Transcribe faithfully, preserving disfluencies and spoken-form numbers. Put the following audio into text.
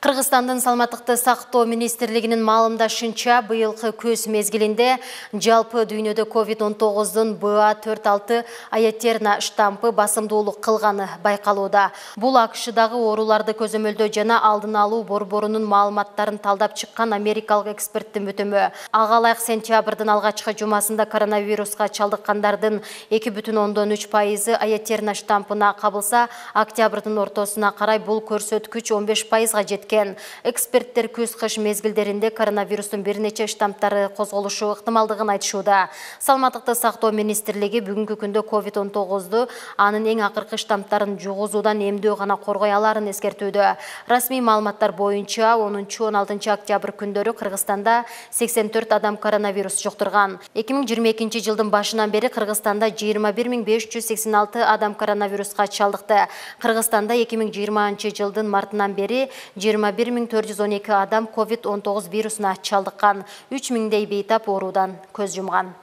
Кыргызстандын саламаттыкты сактоо министрлигинин маалымдашынча, быйылкы көз мезгилинде жалпы дүйнөдө ковид он тогуздун Б А төрт алты Аятерна штампы басымдуулук кылганы байкалууда. Бул АКШдагы ооруларды көзөмөлдөө жана алдын алуу борборунун маалыматтарын талдап чыккан америкалык эксперттин бүтүмү. Ага ылайык сентябрдын алгачкы жумасында коронавируска чалдыккандардын эки бүтүн ондон үч пайызы Аятерна штампына кабылса, октябрдын ортосуна карай бул көрсөткүч он беш пайызга жеткен. Эксперттер күз-кыш мезгилдеринде коронавирустун бир нече штамптары козголушу ыктымалдыгын айтышууда. Саламаттыкты сактоо министрлиги бүгүнкү күндө ковид он тогузду анын эң акыркы штамптарын жугузуудан эмдөө гана коргой аларын эскертүүдө. Расмий маалыматтар боюнча онунчу он алтынчы октябрь күндөрү Кыргызстанда сексен төрт адам коронавирус жуктурган. эки миң жыйырма экинчи жылдын башынан бери Кыргызстанда жыйырма бир миң беш жүз сексен алты адам коронавируска чалдыкты. Кыргызстанда эки миң жыйырманчы жылдын мартынан бери жыйырма бир миң төрт жүз он эки адам ковид он тогуз вирусуна чалдыккан, үч миңдей бейтап оорудан көз жумган.